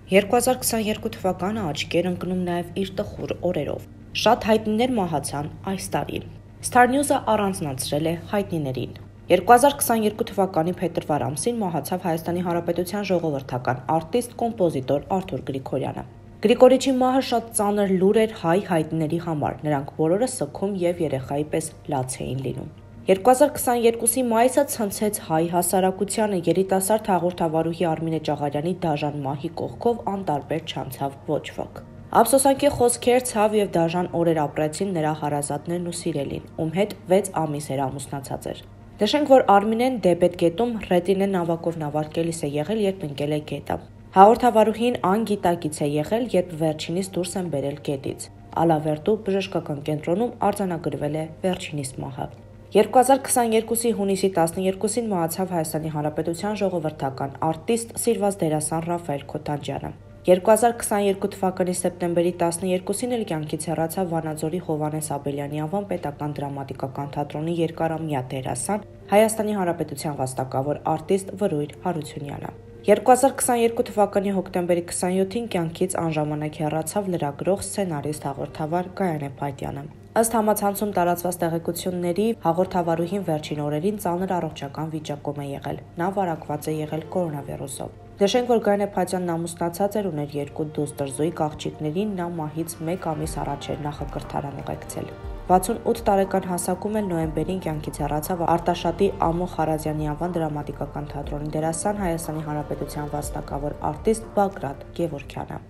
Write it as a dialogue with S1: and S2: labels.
S1: 2022 թվականը աչքի էր ընկնում նաև իր տխուր օրերով։ Շատ հայտնիներ մահացան այս տարի։ Star News-ը առանձնացրել է հայտնիներին։ 2022 թվականի փետրվար ամսին մահացավ Հայաստանի Հանրապետության ժողովրդական արտիստ, կոմպոզիտոր Արթուր Գրիգորյանը։ Գրիգորիչի մահը շատ ծանր լուր էր հայ հայտնիների համար, նրանք բոլորը սգում և երեխայի պես լաց էին լինում։ 2022-ի մայիսը ցնցեց հայ հասարակությանը, երիտասարդ հաղորդավարուհի Արմինե Ճաղարյանի դաժան մահի կողքով անտարբեր չանցավ ոչ ոք։ Ափսոսանքի խոսքեր, ցավ և դաժան օրեր ապրեցին նրա հարազատներն ու սիրելին, ում հետ 6 ամիս էր ամուսնացած էր։ Նշենք, որ Արմինեն դեբետ-գետում Ռետինե նավակով նավարկելիս է եղել, երբ ընկել է գետը։ Հաղորդավարուհին անգիտակից է եղել, երբ վերջինիս դուրս են բերել գետից։ Ալավերդու բժշկական կենտրոնում արձանագրվել է վերջինիս մահը։ 2022-ի հունիսի 12-ին մահացավ Հայաստանի Հանրապետության ժողովրդական արտիստ, սիրված դերասան Ռաֆայել Քոթանջյանը։ 2022 թվականի սեպտեմբերի 12-ին էլ կյանքից հեռացավ Վանաձորի Հովհաննես Աբելյանի անվան պետական դրամատիկական թատրոնի երկարամյա դերասան, Հայաստանի Հանրապետության վաստակավոր արտիստ Վրույր Հարությունյանը։ 2022 թվականի հոկտեմբերի 27-ին կյանքից անժամանակ հեռացավ լրագրող, սցենարիստ, հաղորդավար Գայանե Փայտյանը։ Ըստ համացանցում տարածված տեղեկությունների, հաղորդավարուհին վերջին օրերին ծանր առողջական վիճակում է եղել։ Նա վարակված է եղել կորոնավիրուսով։ Նշենք, որ Գայանե Փայտյանն ամուսնացած էր, ուներ 2 դուստր, Զոյիկ աղջիկներին, նա մահից 1 ամիս առաջ էր նախակրթարան ուղեկցել։ 68 տարեկան հասակում էլ նոյեմբերին կյանքից հեռացավ Արտաշատի Ամո Խարազյանի անվան դրամատիկական թատրոնի դերասան, Հայաստանի Հանրապետության վաստակավոր արտիստ Բագրատ Գևորգյանը։